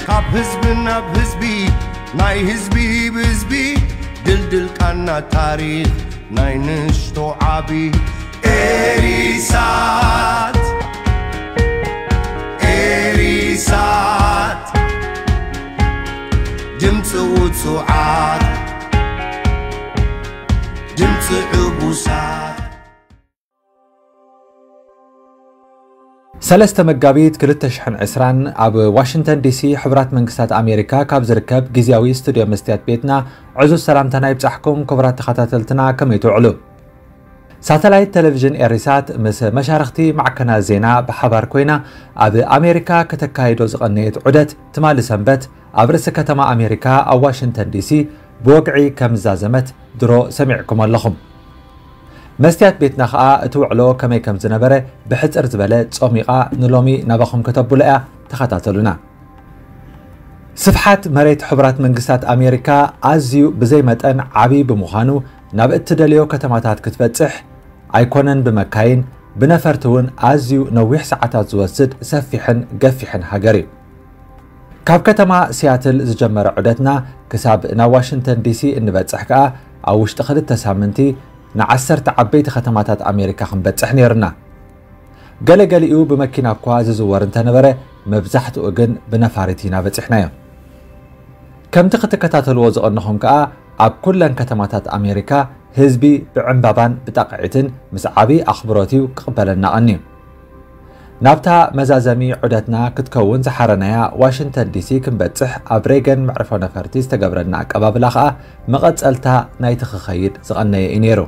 ካብ ህዝቢ ናብ ህዝቢ፣ ናይ ህዝቢ ብህዝቢ፣ ድልድል ቃና ታሪኽ ናይ ንእሽቶ ዓቢ። ኤሪሳት፣ ኤሪሳት፣ ድምፂ ውፁዓት፣ ድምፂ ዕቡሳት። ሰለስተ መጋቢት ክልተ ሽሕን ዕስራን ኣብ ዋሽንግተን ዲሲ ሕቡራት መንግስታት ኣሜሪካ ካብ ዝርከብ ግዝያዊ ስቱድዮ መስትያት ቤትና ዕዙዝ ሰላምታና ይብጻሕኩም። ክቡራት ተኸታተልትና፣ ከመይ ትውዕሉ? ሳተላይት ቴሌቪዥን ኤሪሳት ምስ መሻርኽቲ ማዕከናት ዜና ብሓባር ኮይና ኣብ ኣሜሪካ ከተካይዶ ዝቐነየት ዑደት ትማሊ ሰንበት ኣብ ርእሲ ከተማ ኣሜሪካ ኣብ ዋሽንግተን ዲሲ ብወግዒ ከም ዝዛዘመት ድሮ ሰሚዕኩም ኣለኹም። መስትያት ቤትና ኸኣ እቲ ውዕሎ ከመይ ከም ዝነበረ ብሕጽር ዝበለ ጾሚቓ ንሎሚ ናባኹም ከተብሎ እያ። ተኸታተሉና። ስፍሓት መሬት ሕቡራት መንግስታት ኣሜሪካ ኣዝዩ ብዘይ መጠን ዓቢ ብምዃኑ ናብ እትደልዮ ከተማታት ክትበጽሕ ኣይኮነን ብመካይን፣ ብነፈርቲ እውን ኣዝዩ ነዊሕ ሰዓታት ዝወስድ ሰፊሕን ገፊሕን ሃገር እዩ። ካብ ከተማ ሲያትል ዝጀመረ ዑደትና ክሳብ ናብ ዋሽንግተን ዲሲ እንበጽሕ ከኣ ኣብ ውሽጢ ክልተ ሳምንቲ ንዓሰርተ ዓበይቲ ከተማታት ኣሜሪካ ክንበጽሕ ነይሩና። ገለገሊኡ ብመኪና እኳ ዝዝወር እንተነበረ፣ መብዛሕትኡ ግን ብነፋሪት ኢና በጺሕናዮ። ከምቲ ክትከታተልዎ ዝቐነኹም ከኣ ኣብ ኩለን ከተማታት ኣሜሪካ ህዝቢ ብዕምባባን ብጣቕዒትን ምስ ዓቢ ኣኽብሮት እዩ ክቕበለና ቀንዩ። ናብታ መዛዘሚ ዑደትና ክትከውን ዝሓረናያ ዋሽንግተን ዲሲ ክንበጽሕ ኣብ ሬገን መዕርፎ ነፈርቲ ዝተገብረልና ኣቀባብላ ኸኣ መቐጸልታ ናይቲ ክኸይድ ዝቐነየ እዩ ነይሩ።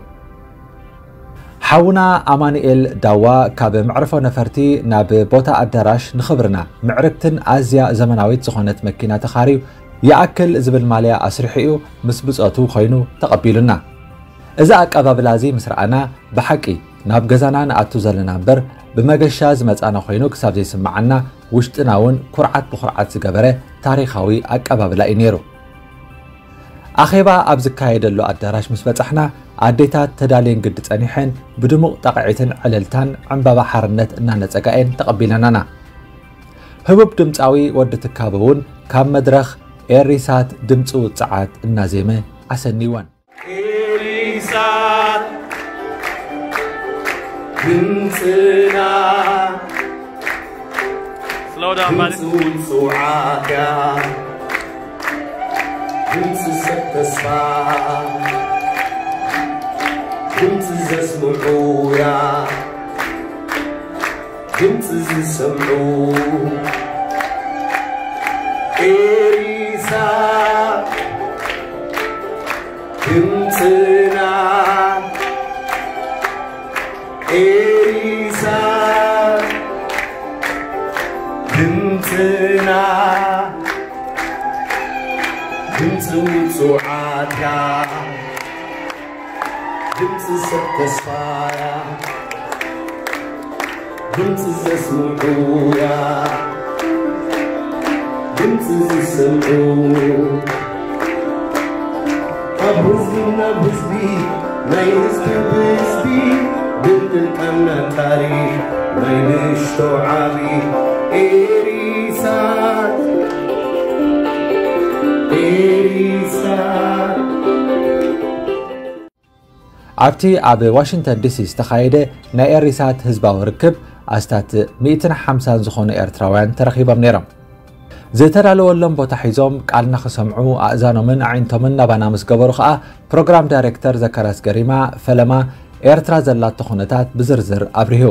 ሓውና ኣማኑኤል ዳዋ ካብ መዕርፎ ነፈርቲ ናብ ቦታ ኣዳራሽ ንኽብርና ምዕርግትን ኣዝያ ዘመናዊት ዝኾነት መኪና ተኻርዩ ይኣክል ዝብል ማልያ ኣስሪሑ እዩ ምስ ብጾቱ ኮይኑ ተቐቢሉና። እዚ ኣቀባብላ እዚ ምስ ረኣና ብሓቂ ናብ ገዛና ንኣቱ ዘለና እምበር ብመገሻ ዝመጻና ኮይኑ ክሳብ ዘይስምዓና ውሽጥና እውን ኩርዓት ብኹርዓት ዝገበረ ታሪኻዊ ኣቀባብላ እዩ ነይሩ። ኣኼባ ኣብ ዝካየደሉ ኣዳራሽ ምስ በጻሕና ኣዴታት ተዳልየን ግዲ ጸኒሐን ብድሙቕ ጣቕዒትን ዕልልታን ዕምባባ ሓርነት እናነጸጋ እየን ተቐቢለናና። ህቡብ ድምጻዊ ወዲ ትካቦ እውን ካብ መድረኽ ኤሪሳት ድምጺ ውጽዓት እናዜመ ኣሰንይወን። ኤሪሳት ድምጽና፣ ድምጺ ውጽዓት እያ፣ ድምጺ ሰብ ተስፋ፣ ድምጺ ዘስምዑ እያ። ድምፂ ዝሰምዑ ኤሪሳ ድምፅና ኤሪሳ ድምፅና ድምፂ ውፁዓትያ ድምፂ ሰብ ተስፋያ ድምፂ ዘስምዑያ ድምፂ ዝሰምዑ ካብ ህዝቢ ናብ ህዝቢ ናይ ህዝቢ ብህዝቢ ድልድል ቀና ታሪኽ ናይ ንእሽቶ ዓቢ ኤሪሳት ኤሪሳት ኣብቲ ኣብ ዋሽንግተን ዲሲ ዝተኻየደ ናይ ኤሪሳት ህዝባዊ ርክብ ኣስታት ሚእትን ሓምሳን ዝኾኑ ኤርትራውያን ተረኺቦም ነይሮም። ዝተዳለወሎም ቦታ ሒዞም ቃልና ክሰምዑ ኣእዛኖምን ኣዒንቶምን ናባና ምስ ገበሩ ኸኣ ፕሮግራም ዳይሬክተር ዘካርያስ ገሪማ ፈለማ ኤርትራ ዘላቶ ኩነታት ብዝርዝር ኣብሪሁ።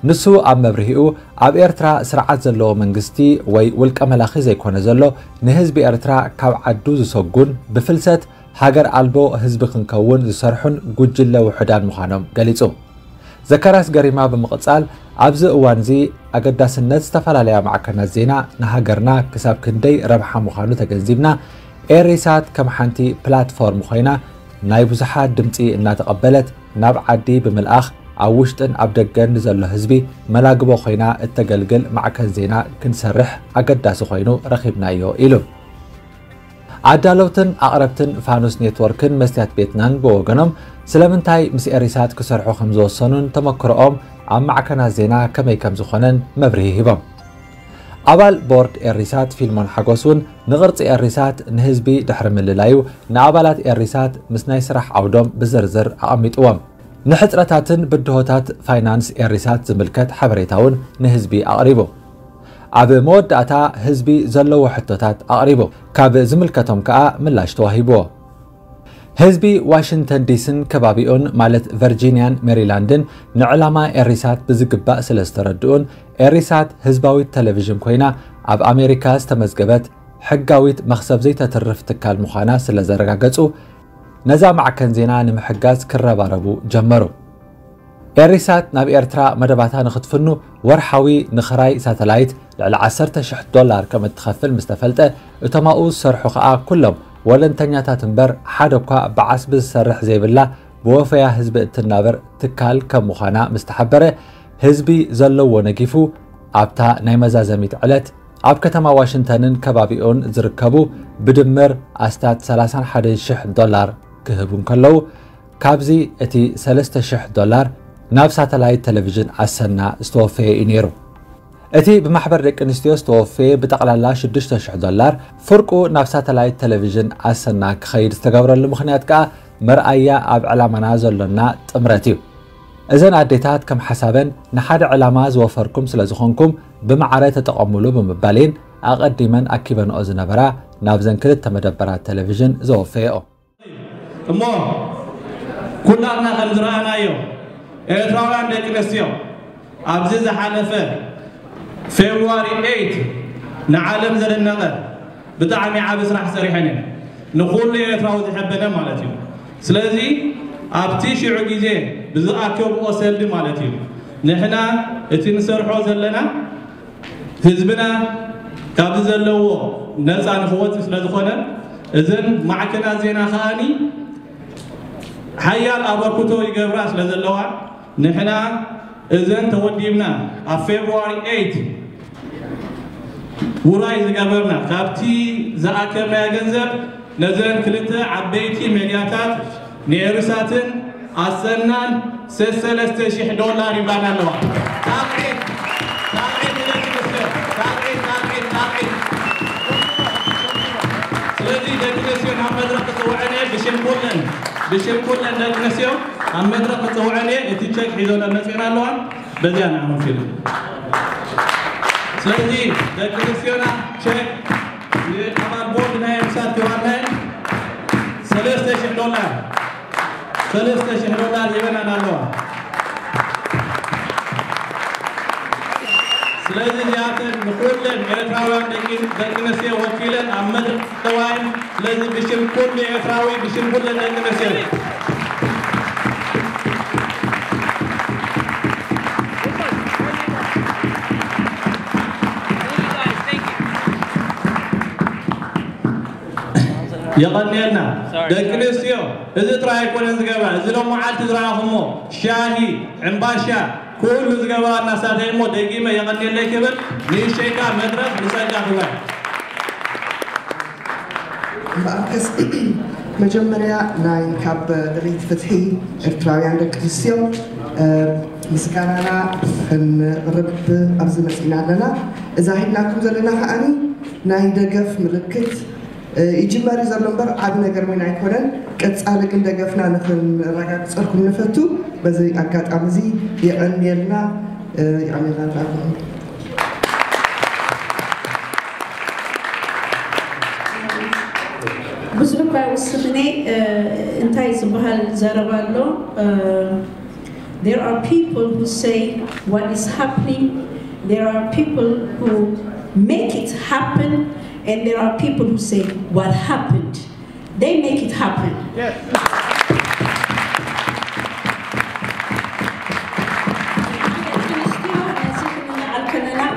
ንሱ ኣብ መብርሂኡ ኣብ ኤርትራ ስርዓት ዘለዎ መንግስቲ ወይ ውልቀ መላኺ ዘይኮነ ዘሎ ንህዝቢ ኤርትራ ካብ ዓዱ ዝሰጉን ብፍልሰት ሃገር ኣልቦ ህዝቢ ክንከውን ዝሰርሑን ጉጅለ ውሑዳን ምዃኖም ገሊጹ። ዘካርያስ ገሪማ ብምቕጻል ኣብዚ እዋንዚ ኣገዳስነት ዝተፈላለያ ማዕከናት ዜና ንሃገርና ክሳብ ክንደይ ረብሓ ምዃኑ ተገንዚብና ኤሪሳት ከም ሓንቲ ፕላትፎርም ኮይና ናይ ብዙሓት ድምጺ እናተቐበለት ናብ ዓዲ ብምልኣኽ ኣብ ውሽጥን ኣብ ደገን ንዘሎ ህዝቢ መላግቦ ኮይና እተገልግል ማዕከን ዜና ክንሰርሕ ኣገዳሲ ኮይኑ ረኺብናዮ ኢሉ። ኣዳለውትን ኣቕረብትን ፋኑስ ኔትወርክን መስትያት ቤትናን ብወገኖም ስለምንታይ ምስ ኤሪሳት ክሰርሑ ከም ዝወሰኑን ተመክሮኦም ኣብ ማዕከናት ዜና ከመይ ከም ዝኾነን መብርሂ ሂቦም። ኣባል ቦርድ ኤሪሳት ፊልሞን ሓጎስ እውን ንቕርጺ ኤሪሳት ንህዝቢ ድሕሪ ምልላዩ፣ ንኣባላት ኤሪሳት ምስ ናይ ስራሕ ዓውዶም ብዝርዝር ኣቐሚጥዎም። ንሕጽረታትን ብድሆታት ፋይናንስ ኤሪሳት ዝምልከት ሓበሬታ እውን ንህዝቢ ኣቕሪቡ። ኣብ መወዳእታ ህዝቢ ዘለዎ ሕቶታት ኣቕሪቡ። ካብ ዝምልከቶም ከኣ ምላሽ ተዋሂብዎ። ህዝቢ ዋሽንግተን ዲስን ከባቢኡን ማለት ቨርጂንያን ሜሪላንድን ንዕላማ ኤሪሳት ብዝግባእ ስለ ዝተረድኡን ኤሪሳት ህዝባዊት ቴሌቪዥን ኮይና ኣብ ኣሜሪካ ዝተመዝገበት ሕጋዊት መኽሰብ ዘይተትርፍ ትካል ምዃና ስለ ዘረጋገጹ ነዛ ማዕከን ዜና ንምሕጋዝ ክረባረቡ ጀመሩ። ኤሪሳት ናብ ኤርትራ መደባታ ንክትፍኑ ወርሓዊ ንኽራይ ሳተላይት ልዕሊ ዓሰርተ ሽሕ ዶላር ከም እትኸፍል ምስ ተፈልጠ፣ እቶም ኣብኡ ዝሰርሑ ከኣ ኩሎም ወለንተኛታት እምበር ሓደ እኳ ብዓስቢ ዝሰርሕ ዘይብላ ብወፈያ ህዝቢ እትናበር ትካል ከም ምዃና ምስ ተሓበረ፣ ህዝቢ ዘለዎ ነጊፉ ኣብታ ናይ መዛዘሚት ዕለት ኣብ ከተማ ዋሽንግተንን ከባቢኡን ዝርከቡ ብድምር ኣስታት ሰላሳን ሓደን ሽሕ ዶላር ክህቡ እንከለዉ፣ ካብዚ እቲ ሰለስተ ሽሕ ዶላር ናብ ሳተላይት ቴሌቪዥን ኣሰና ዝተወፈየ እዩ ነይሩ። እቲ ብማሕበር ደቂ ኣንስትዮ ዝተወፈየ ብጠቕላላ ሽዱሽተ ሽሕ ዶላር ፍርቁ ናብ ሳተላይት ቴሌቪዥን ኣሰና ክኸይድ ዝተገብረሉ ምኽንያት ከኣ መርኣያ ኣብ ዕላማና ዘሎና ጥምረት እዩ። እዘን ኣዴታት ከም ሓሳበን ንሓደ ዕላማ ዝወፈርኩም ስለ ዝኾንኩም ብማዕረ ተጠቐሙሉ ብምባል እየን ኣቐዲመን ኣኪበንኦ ዝነበራ ናብዘን ክልተ መደበራት ቴሌቪዥን ዘወፈየኦ። እሞ ኩላትና ከም ዝረኣናዮ ኤርትራውያን ደቂ ኣንስትዮ ኣብዚ ዝሓለፈ ፌብሩዋሪ ኤይት ንዓለም ዘደነቐ ብጣዕሚ ዓቢ ስራሕ ሰሪሐን እየን። ንኹሉ ኤርትራዊ ዝሐበነ ማለት እዩ። ስለዚ ኣብቲ ሽዑ ግዜ ብዝኣከብኦ ሰልዲ ማለት እዩ ንሕና እቲ ንሰርሖ ዘለና ህዝብና ካብዚ ዘለዎ ነፃ ንክወፅእ ስለ ዝኾነ እዘን ማዕከናት ዜና ከኣኒ ሓያል ኣበርክቶ ይገብራ ስለ ዘለዋ ንሕና እዘን ተወዲብና ኣብ ፌብሩዋሪ ኤይት ውራይ ዝገበርና ካብቲ ዝኣከብናዮ ገንዘብ ነዘን ክልተ ዓበይቲ ሜድያታት ንኤሪሳትን ኣሰናን ሰሰለስተ ሽሕ ዶላር ይብላና ኣለዋ። ሳብዒት ሳብዒት ንደቂ ኣንስትዮ ሳብዒት ሳብዒት ሳብዒት። ስለዚ ደቂ ኣንስትዮ ናብ መድረኽ ክፅውዐን እየ ብሽም ኩለን ብሽም ኩለን ደቂ ኣንስትዮ ኣብ መድረኽ ክፅውዐን እየ። እቲ ቸክ ሒዞ መፅኤን ኣለዋ። በዚያ ንዓኹም ፊልም ስለዚ ደቂ ኣንስትዮና ቸክ ንኣባል ቦርድ ናይ ኤሪሳት ክባናየን ሰለስተ ሽሕ ዶላር ሰለስተ ሽሕ ዶላር ሂበናን ኣለዋ። ስለዚ እዚኣተን ንኩለን ኤርትራውያን ደቂ ደቂ ኣንስትዮ ወኪለን ኣብ መድረኽ ተዋይን ስለዚ ብሽም ኩሉ ኤርትራዊ ብሽም ኩለን ደቂ ኣንስትዮ የቐንየልና ደቂ ኣንስትዮ። እዚ ጥራይ ኣይኮነን ዝገብራ፣ እዚ ሎም መዓልቲ ዝረኣኹሞ ሻሂ፣ ዕምባሻ፣ ኩሉ ዝገብራ እናሳተየ እሞ ደጊመ የቐንየለይ ክብል ንእሸይካ መድረኽ ንጸጋ ክዋይ እምበኣርከስ መጀመርያ ናይ ካብ ደለይቲ ፍትሒ ኤርትራውያን ደቂ ኣንስትዮ ምስጋናና ክንቕርብ ኣብዚ መፂና ኣለና። እዛ ሂብናኩም ዘለና ከዓኒ ናይ ደገፍ ምልክት ይጅመር እዩ ዘሎ እምበር ዓቢ ነገር እውን ኣይኮነን። ቀጻሊ ግን ደገፍና ንክንረጋግጸልኩም ንፈቱ። በዚ ኣጋጣሚ እዚ የቐንየልና የቐንየልና ንራኩም። ብዙሕ እኳ ይውስኽኒ እንታይ ዝበሃል ዘረባ ኣሎ። There are people who say what is happening. There are people who make it happen. And there are people who say what happened. They make it happen. Yes.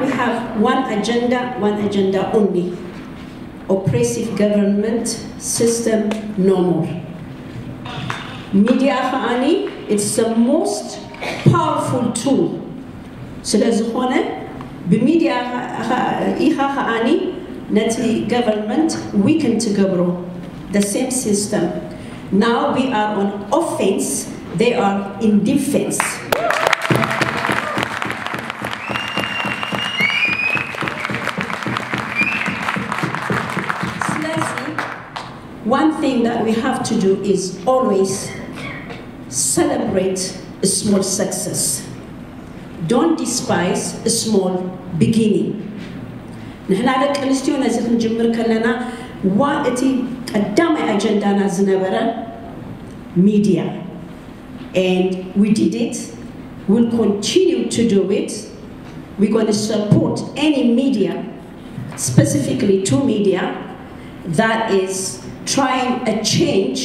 We have one agenda, one agenda only. Oppressive government system no more. Media, it's the most powerful tool. ስለዝኾነ ብሚድያ ኢኻ ከዓኒ ነቲ government weaken ትገብሮ። The same system. Now we are on offense, they are in defense. One thing that we have to do is always celebrate a small success. Don't despise a small beginning. ንሕና ደቂ ኣንስትዮ ነዚ ክንጅምር ከለና ዋ እቲ ቀዳማይ ኣጀንዳና ዝነበረ ሚድያ and we did it. We'll continue to do it. We're going to support any media, specifically two media, that is trying a change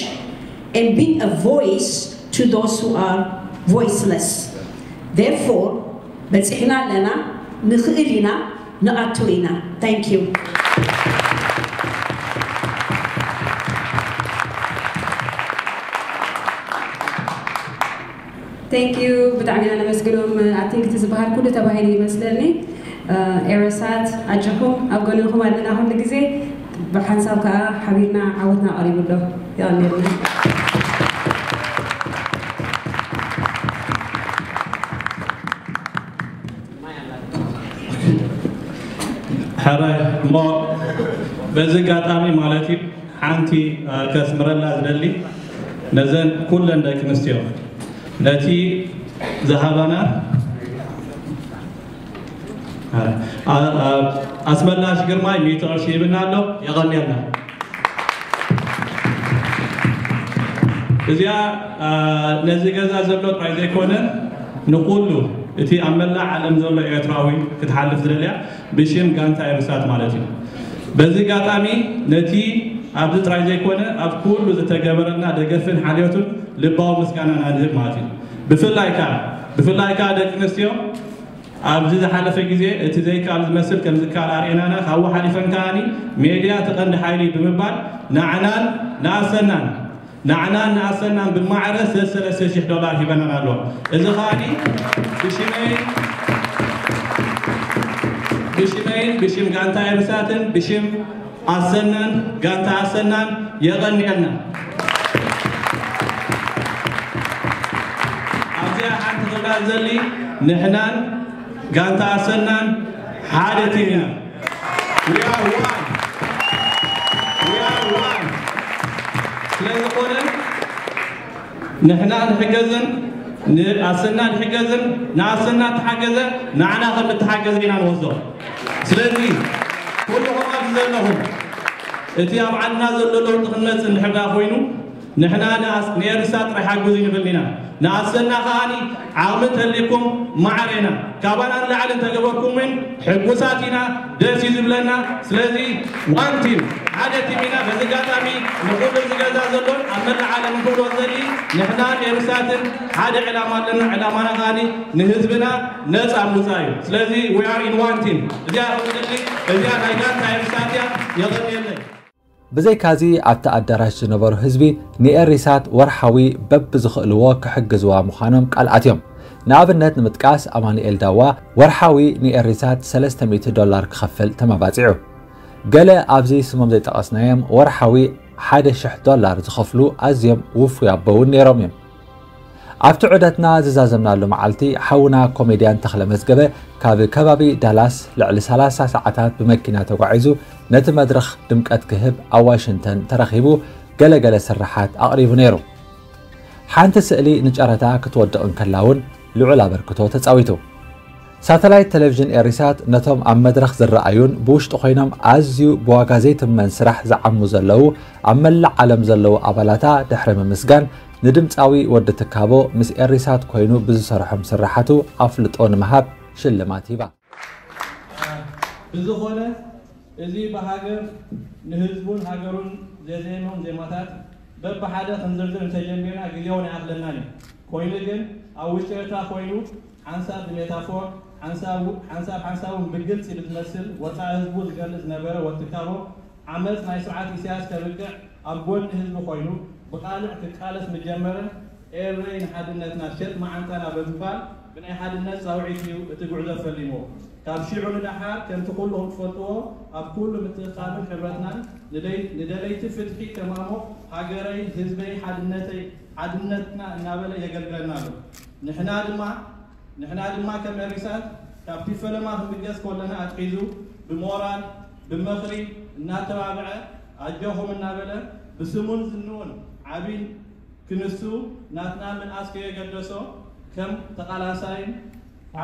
and being a voice to those who are voiceless. Therefore, በፂሕና ኣለና፣ ንኽእል ኢና፣ ንኣቱ ኢና። Thank you. Thank you ብጣዕሚ ኢና ነመስግኖም። I think እቲ ዝበሃል ኩሉ ተባሂሉ ይመስለኒ። ኤረሳት ኣጆኹም ኣብ ጎንኹም ኣለና ኩሉ ግዜ። ብሓንሳብ ከዓ ሓቢርና ዓወትና ቀሪቡ ኣሎ። የቐንየልና። ሕራይ እሞ በዚ ኣጋጣሚ ማለት እዩ ሓንቲ ከስምረላ ዝደሊ ነዘን ኩለን ደቂ ኣንስትዮ ነቲ ዝሃባና ኣስመላሽ ግርማይ ሚእቲ ቅርሺ ይብና ኣሎ። የቐንየልና። እዚኣ ነዚ ገዛ ዘሎ ጥራይ ዘይኮነ ንኩሉ እቲ ኣብ መላእ ዓለም ዘሎ ኤርትራዊ ክትሓልፍ ዝደልያ ብሽም ጋንታ ኤርሳት ማለት እዩ። በዚ ኣጋጣሚ ነቲ ኣብዚ ጥራይ ዘይኮነ ኣብ ኩሉ ዝተገበረልና ደገፍን ሓልዮቱን ልባዊ ምስጋናና ንህብ ማለት እዩ። ብፍላይ ከዓ ብፍላይ ከዓ ደቂ ኣንስትዮ ኣብዚ ዝሓለፈ ግዜ እቲ ዘይከኣል ዝመስል ከም ዝከኣል ኣርእየናና ካብኡ ሓሊፈን ከዓኒ ሜድያ እቲ ቀንዲ ሓይሊ ብምባል ንዓናን ንኣሰናን ንዓናን ንኣሰናን ብማዕረ ሰለስተ ሽሕ ዶላር ሂበናን ኣለዋ። እዚ ከዓኒ ብሽመይን ብሽመይን ብሽም ጋንታ ኤርሳትን ብሽም ኣሰናን ጋንታ ኣሰናን የቐንየልና። ኣብዚኣ ሓንቲ ክብላ ዘሊ ንሕናን ጋንታ ኣሰናን ሓደ ቲም ኢና። We are one. We are one. ስለ ዝኾነ ንሕና ንሕገዝን ንኣሰና ንሕገዝን ንኣሰና ተሓገዘ ንዓና ከም እተሓገዘ ኢና ንወስዶ። ስለዚ ኩልኹም ኣብዚ ዘለኹም እቲ ኣብ ዓድና ዘሎ ለውጢ ክመጽእ እንድሕር ደኣ ኮይኑ ንሕና ንኣስ- ንኤርሳ ጥራይ ሓግዙ ንብል ኢና። ንኣሰና ከዓኒ ዓቕሚ እንተልይኩም ማዕረ ኢና። ካባና ንላዕሊ እንተገበርኩም እውን ሕጉሳት ኢና፣ ደስ እዩ ዝብለና። ስለዚ ዋን ቲም ሓደ ቲም ኢና። በዚ ኣጋጣሚ ንኩሉ እዚ ገዛ ዘሎን ኣብ መላእ ዓለም ክብሎ ዘሊ ንሕናን ኤርሳትን ሓደ ዕላማ ኣለና። ዕላማና ከዓኒ ንህዝብና ነፃ ምውፃእ እዩ። ስለዚ we are in one team። እዚኣ ከምትልክ እዚኣ ናይ ጋንታ ኤርሳት እያ። የቐንየለይ። ብዘይካዚ ኣብቲ ኣዳራሽ ዝነበሩ ህዝቢ ንኤሪሳት ወርሓዊ በብዝኽእልዎ ክሕግዝዋ ምዃኖም ቃል ኣትዮም። ንኣብነት ንምጥቃስ ኣማኑኤል ዳዋ ወርሓዊ ንኤሪሳት ሰለስተ ሚእቲ ዶላር ክኸፍል ተመባጺዑ። ገለ ኣብዚ ስሞም ዘይጠቐስናዮም ወርሓዊ ሓደ ሽሕ ዶላር ዝኸፍሉ ኣዝዮም ውፉይ ኣቦ እውን ነይሮም እዮም። ኣብቲ ዑደትና ዝዛዘምናሉ መዓልቲ ሓውና ኮሜድያን ተኽለ መዝገበ ካብ ከባቢ ዳላስ ልዕሊ ሰላሳ ሰዓታት ብመኪና ተጓዒዙ ነቲ መድረኽ ድምቀት ክህብ ኣብ ዋሽንግተን ተረኺቡ ገለገለ ስርሓት ኣቕሪቡ ነይሩ። ሓንቲ ስእሊ ንጨረታ ክትወድቕ እንከላ እውን ልዑል ኣበርክቶ ተጻዊቱ። ሳተላይት ቴሌቪዥን ኤሪሳት ነቶም ኣብ መድረኽ ዝረኣዩን ብውሽጢ ኮይኖም ኣዝዩ ብዋጋ ዘይትመን ስራሕ ዝዓሙ ዘለዉ ኣብ መላእ ዓለም ዘለዉ ኣባላታ ድሕሪ ምምስጋን ንድምፃዊ ወዲ ትካቦ ምስ ኤሪሳት ኮይኑ ብዝሰርሖም ስራሓቱ ኣፍልጦ ንምሃብ ሽልማት ሂባ። ብዝኾነ እዚ ብሃገር ንህዝቡን ሃገሩን ዘዜሞም ዜማታት በብሓደ ክንዝርዝር እንተጀሚርና ግዜውን ኣይኣኽለናን እዩ። ኮይኑ ግን ኣብ ውሽጢ ኤርትራ ኮይኑ ሓንሳብ ብሜታፎር ሓንሳብ ሓንሳብ ሓንሳብ እውን ብግልፂ ብዝመስል ወፃኢ ህዝቡ ዝገልፅ ዝነበረ ወትካቦ ዓመፅ ናይ ስርዓት ኢሳያስ ከብቅዕ ኣብ ጎኒ ህዝቢ ኮይኑ ብቃልዕ ክቃለስ ምጀመረ ኤረይ ንሓድነትና ሸጥ መዓንጣና ብምባል ብናይ ሓድነት ፃውዒት እዩ እቲ ጉዕዞ ፈሊምዎ። ካብ ሽዑ ንደሓር ከምቲ ኩልኹም ትፈልጥዎ ኣብ ኩሉ ምትእኽኻብን ሕብረትናን ንደይ- ንደለይቲ ፍትሒ ከማሞ ሃገረይ ህዝበይ ሓድነተይ ሓድነትና እናበለ የገልግለና ኣሎ። ንሕና ድማ ንሕና ድማ ከም ኤሪሳት ካብቲ ፈለማ ክንብገስ ከለና ኣትሒዙ ብሞራል ብመኽሪ እናተባብዐ ኣጆኹም እናበለ ብስሙን ዝንኡን ዓቢን ክንሱ ናትና ምንኣስ ከየገደሶ ከም ተቓላሳይን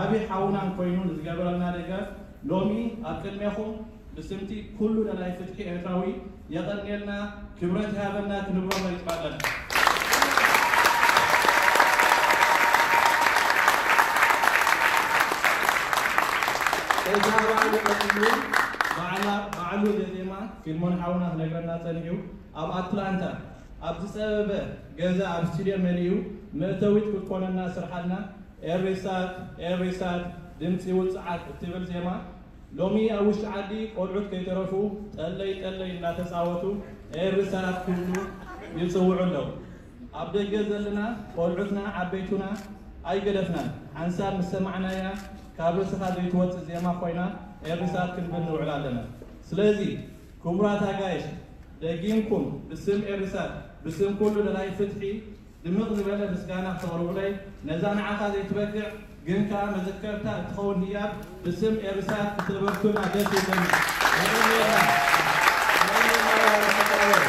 ዓቢ ሓውናን ኮይኑ ንዝገበረልና ደገፍ ሎሚ ኣብ ቅድሜኹም ብስምቲ ኩሉ ደላይ ፍትሒ ኤርትራዊ የቐንየልና፣ ክብረት ይሃበልና ክንብሎ መሪጽ ኣለና። እዚ ኣባል ቀጺሉ ባዕላ- ባዕሉ ዘዜማ ፊልሞን ሓውና ክነግረና ጸኒሑ ኣብ ኣትላንታ ኣብ ዝጸበበ ገዛ ኣብ ስቱድዮ መሊኡ መእተዊት ክትኮነና ስርሓልና ኤሪሳት ኤሪሳት ድምጺ ውጽዓት እትብል ዜማ ሎሚ ኣብ ውሽጢ ዓዲ ቆልዑት ከይተረፉ ጠለይ ጠለይ እናተጻወቱ ኤሪሳት ክብሉ ይጽውዑ ኣለዉ። ኣብ ደገ ዘለና ቆልዑትና ዓበይቱና ኣይገደፍናን። ሓንሳብ ምስ ሰማዕናያ ካብ ርእስኻ ዘይትወጽእ ዜማ ኮይና ኤሪሳት ክንብል ንውዕል ኣለና። ስለዚ ክቡራት ኣጋይሽ ደጊምኩም ብስም ኤሪሳት ብስም ኩሉ ደላይ ፍትሒ ድምቕ ዝበለ ምስጋና ክተቕርቡለይ ነዛ ንዓኻ ዘይትበቅዕ ግን ከኣ መዘከርታ እትኸውን ህያብ ብስም ኤሪሳት ክትነበርቱልና ደስ ይብለኒ። የቐንየልና። የቐንየልና።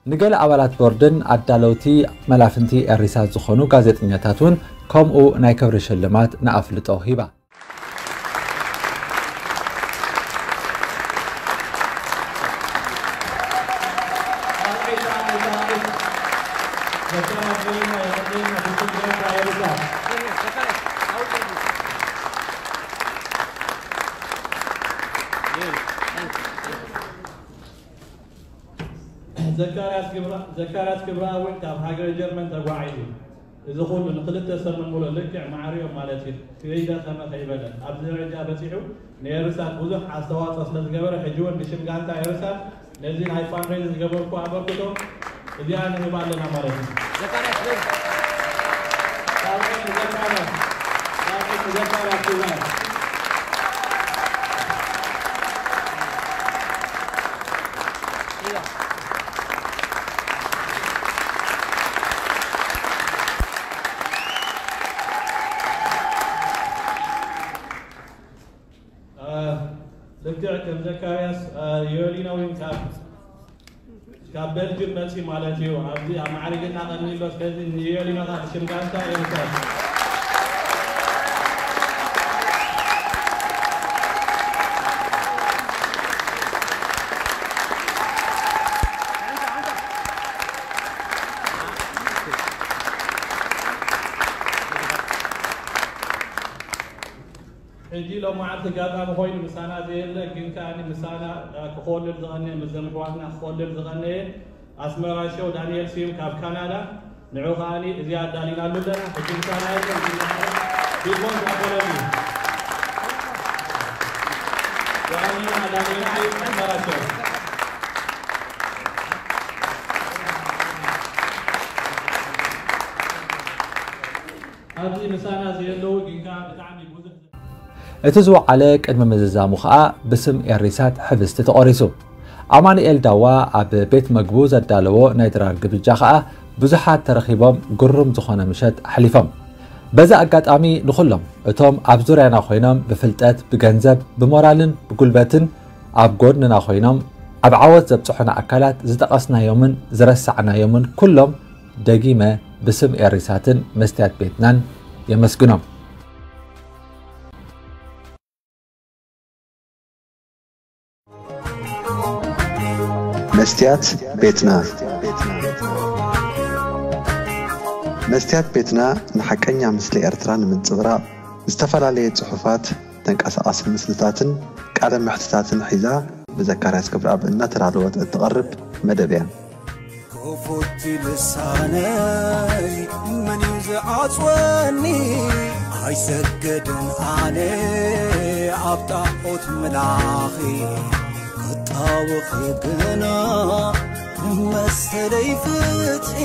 ንገለ ኣባላት ቦርድን ኣዳለውቲ መላፍንቲ ኤሪሳት ዝኾኑ ጋዜጠኛታት እውን ከምኡ ናይ ክብሪ ሽልማት ንኣፍልጦ ሂባ። ዘካርያስ ክብራ- ዘካርያስ ክብራ እውን ካብ ሃገረ ጀርመን ተጓዒዙ። እዚ ኩሉ ንክልተ ሰሙን ሙሉእ ልክዕ ማዕሪኦም ማለት እዩ። ከይደኸመ ከይበለ ኣብዚ ደረጃ በጺሑ ንኤርሳት ብዙሕ ኣስተዋጽኦ ስለ ዝገበረ ሕጂ እውን ብሽም ጋንታ ኤርሳት ነዚ ናይ ፋንድሬዝ ዝገበርኩ ኣበርክቶ እዚኣ ንህብ ኣለና ማለት እዩ። ዘካርያስ በል። ሳልሒት ንዘካርያስ፣ ሳልሒት ንዘካርያስ ትግራይ። ልክዕ ከም ዘካርያስ ዮሊኖ እውን ካብ ካብ በልጅም መፂ ማለት እዩ። ኣብዚ ኣብ ማዕርግና ቀኒሎ። ስለዚ ንዮሊኖ ካብ ሽም ጋንታ ኤርትራ ሕጂ ሎም መዓልቲ ኣጋጣሚ ኮይኑ ምሳና ዘየለ ግን ከኣ ምሳና ክኾልል ዝቐነየ፣ ምስዞም ኣሕዋትና ክኾልል ዝቐነየ ኣስመራ ሸው ዳንኤል ስዩም ካብ ካናዳ፣ ንዑ ከኣ እዚኣ ኣዳሊናሉ ኣለና። ሕጂ ምሳና የለ። ፊልሞን ዳንኤል እዩ። ዋኒና ዳንኤል ስዩም ኣስመራ ሸው። ኣብዚ ምሳና ዘየለዉ ግን ከኣ ብጣዕሚ ብዙሕ እቲ ዝወዓለ ቅድሚ ምዝዛሙ ከኣ ብስም ኤሪሳት ሕብስቲ ተቖሪሱ። ኣማኑኤል ዳዋ ኣብ ቤት መግቡ ዘዳለዎ ናይ ድራር ግብጃ ከኣ ብዙሓት ተረኺቦም ግሩም ዝኾነ ምሸት ኣሕሊፎም። በዚ ኣጋጣሚ ንኹሎም እቶም ኣብ ዙርያና ኮይኖም ብፍልጠት፣ ብገንዘብ፣ ብሞራልን ብጉልበትን ኣብ ጎድንና ኮይኖም ኣብ ዓወት ዘብጽሑና ኣካላት ዝጠቐስናዮምን ዝረሳዕናዮምን ኩሎም ደጊመ ብስም ኤሪሳትን መስትያት ቤትናን የመስግኖም። መስትያት ቤትና። መስትያት ቤትና ንሓቀኛ ምስሊ ኤርትራ ንምንጽብራቕ ዝተፈላለየ ጽሑፋት፣ ተንቀሳቓሲ ምስልታትን ቃለ መሕትታትን ሒዛ ብዘካርያስ ክብረኣብ እናተዳለወት እትቐርብ መደብ እያ። ክፉት ልሳነይ መን እዩ ዝዓጽወኒ? ኣይሰግድን ኣነ ኣብ ጣዖት ምላኺ። ጣውኺ ግና መሰለይ ፍትሒ